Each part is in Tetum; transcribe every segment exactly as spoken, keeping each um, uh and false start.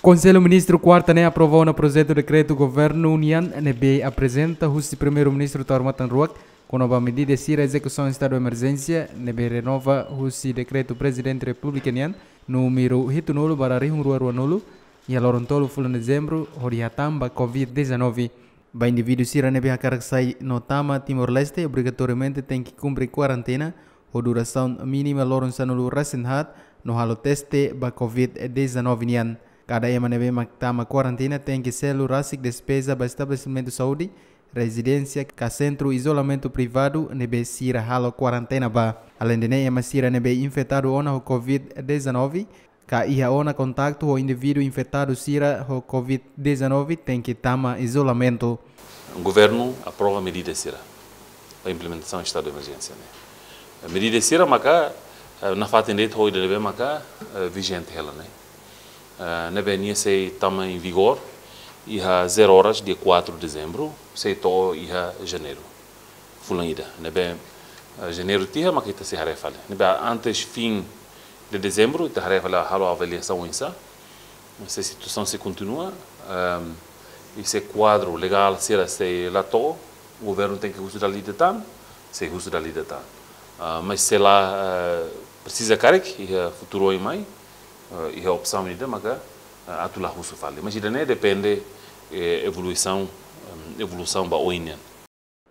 Konsellu Ministru kuarta ne'e aprova ona projetu dekretu governu nian ne'ebé aprezenta husi Primeiru-Ministru Taur Matan Ruak kona-ba medida sira ezekusaun estadu emerjénsia ne'ebé renova husi dekretu Prezidente Repúblika nian númeru hitunulu barra rihun rua ruanulu, iha loron tolu fulan Dezembru, hodi hatán ba covid dezanove. Ba indivíduu sira ne'ebé hakarak sai no tama Timor-Leste, obrigatoriamente tenke kumpre kuarentena ho durasaun mínima loron sanulu resin haat no halo teste ba covid dezanove nian. Kada ema ne'ebé mak tama kuarentena tenke selu rasik despeza ba estabelesimentu saúde, rezidénsia ka sentru izolamentu privadu ne'ebé sira halo kuarentena ba. Aleinde ne'e, ema sira ne'ebé infetadu ona ho covid dezanove ka iha ona kontaktu ho indivíduu infetadu sira ho covid dezanove tenke tama izolamentu. Governu aprova medida sira ba implementasaun estadu de emerjénsia ne'e. Medida sira maka, eh, nafatin de'it ho ida ne'ebé maka, eh, vijente hela ne'e. Eh, ne'ebé nia sei tama em vigor iha zero horas, dia quatro de dezembro, sei to'o iha janeiru fulan ida. Ne'ebé, eh, janeiru tiha maka ita sei haree fali. Ne'ebé antes fim de dezembro, ita haree fali halo avaliasaun oinsá. Se situasaun sei kontinua, ehm, i se kuadru legál sira sei la to'o, governu tenke husu dala ida tan, sei husu dala ida tan. Ah, mas se la, eh, presiza karik, iha futuru oin mai, eh, iha opsaun ida maka, eh, atu la husu fali. Mas ida-ne'e depende, eh, evolusaun, ehm, evolusaun ba oin nian.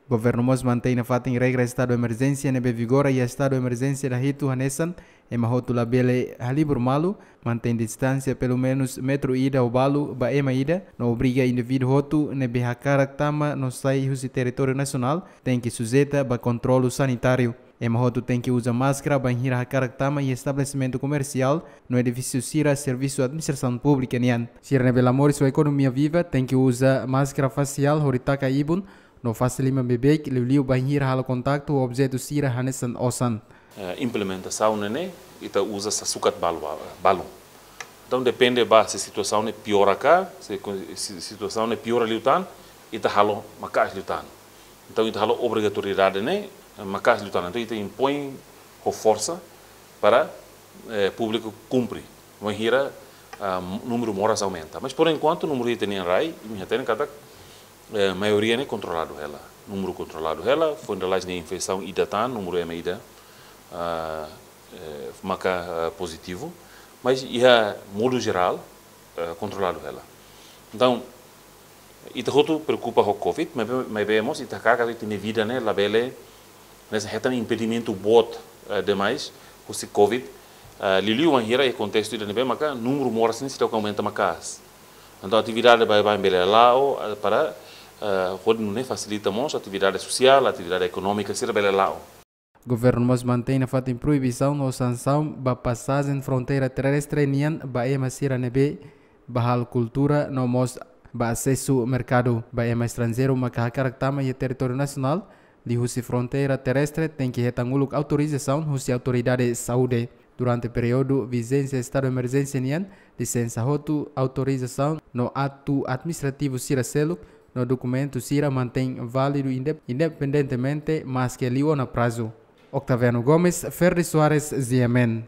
Governu mós mantein nafatin regra estadu emerjénsia ne'ebé vigora iha estadu emerjénsia dahitu, hanesan ema hotu labele halibur malu, mantein distánsia pelumenus metru ida ou balu ba ema ida, no obriga indivíduu hotu ne'ebé hakarak tama no sai husi territóriu nasionál tenke sujeita ba kontrolu sanitáriu. Ema hotu tenke uza máskara bainhira hakarak tama iha estabelesimentu komersiál no edifísiu sira servisu administrasaun públika nian. Sira ne'ebé la moris ho ekonomia viva tenke uza máskara fasiál hodi taka ibun no fase liman beibeik, liuliu bainhira halo kontaktu ho objetu sira hanesan osan. Eh, implementasaun ne'e ne'e, ita uza sa sukat balu, balun. Entaun, depende ba se situasaun ne'e piora ka, se ko-, se situasaun ne'e piora liután, ita halo maka'as liután. Entaun, ita halo obrigatoriedade ne'e, eh, maka'as liután. Entaun, ita impoin ho forsa para, eh, públiku kumpre. Bainhira, ah, númeru moras aumenta. Mas, por enkuantu, númeru ita-nian rai, imi hatene katak, eh, maioria ne'e kontroladu hela. Númeru kontroladu hela, foin dala ruma infesaun ida tan, númeru ema ida, ah, eh, maka, ah, pozitivu. Mas, iha modu jerál, eh, kontroladu hela. Entaun, ita hotu preokupa ho covid, maibé, maibé mós ita hakarak ita-nia vida ne'e labele, ne'e hetan impedimentu boot, eh, demais, husi covid, eh, liuliu bainhira iha kontestu ida ne'ebé maka númeru moras ne'e seidauk aumenta maka'as. Entaun, atividade baibain bele la'o, eh, para, eh, hodi nune'e fasilita mós atividade sosiál, atividade ekonómika sira bele la'o. Governu mós mantein nafatin proibisaun no sansaun ba pasajen fronteira terrestre nian ba ema sira ne'ebé bá halo kultura no mós ba asesu merkadu. Ba ema estranjeiru maka hakarak tama iha territóriu nasionál liuhusi fronteira terrestre tenke hetan uluk autorizasaun husi autoridade saúde. Durante períodu vijénsia estadu emerjénsia nian, lisensa hotu, autorizasaun no atu administrativu sira seluk no dokumentu sira mantein válidu indep-, independentemente maske liu ona prazu. Octaviano Gomes, Ferdi Soares, G M N.